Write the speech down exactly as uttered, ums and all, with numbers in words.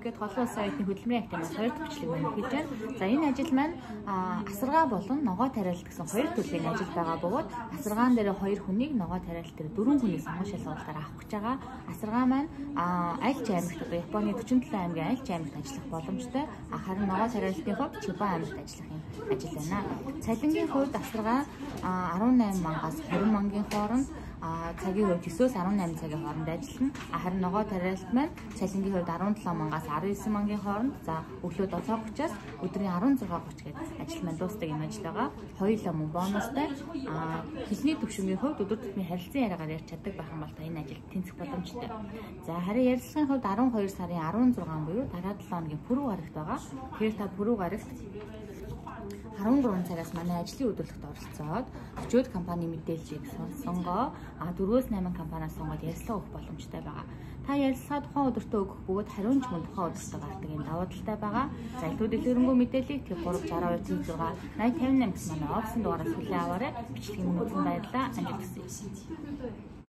гэд холын улсын оюутны хөдөлмөрийн академиас хоёр дахь бичлэг маань хийж байна. За энэ ажил маань асаргаа болон ногоо тариалт гэсэн хоёр төрлийн ажил байгаа бөгөөд асаргаан дээр хоёр хүнийг ногоо тариалт дээр дөрвөн хүний сонгон шалгуулалтаар авах гэж байгаа. Асаргаа маань альч аймагт одоо Японы дөрвөн долоо аймгийн альч аймагт ажиллах боломжтой. Харин ногоо тариалтын хувьд Чиба аймагт ажиллах юм ажил байна. Цалингийн хувьд асаргаа арван найман мангаас хорин мангийн хооронд цагийн хувьд төсөөс арван найман цагийн хооронд ажиллана. Харин ногоо тариалт маань цалингийн хувьд арван долоо мангаас арван девять мангийн хооронд за өглөө долоо тридцаас өдрийн арван зураг тридцать гээд ажил маань дуустдаг юм ажил байгаа. Хоёулаа мөн бонустай. Хэлний төвшингийн хувьд өдөр тутмын харилцан яриагаар ярьж чаддаг байх юм бол та энэ ажилд тэнцэх боломжтой. За харин ярилцлагын хувьд арван хоёр сарын арван зургаан буюу дараа долоо хоногийн пүрэв гарагт байгаа. Тэгэхээр та пүрэв гарагт арван гурван цагаас манай ажлын өдөрлөгт оролцоод өчигд компани мэдээллийг сонгоо а дөрвөөс найман компаниас сонгоод ярилцлага өгөх боломжтой байгаа. Та ярилцлага тухайн өдөртөө өгөх бөгөөд хариуч мөн тухайн өдөртөө гардаг энэ давуу талтай байгаа. За илүү дэлгэрэнгүй мэдээллийг тэр гурав шараа хоёр зураг найман тавин найман гэсэн манай офисын дугаараас хүлээн аваарай. Бичлэгийн өмнө баярлалаа. Амжилт хүсье.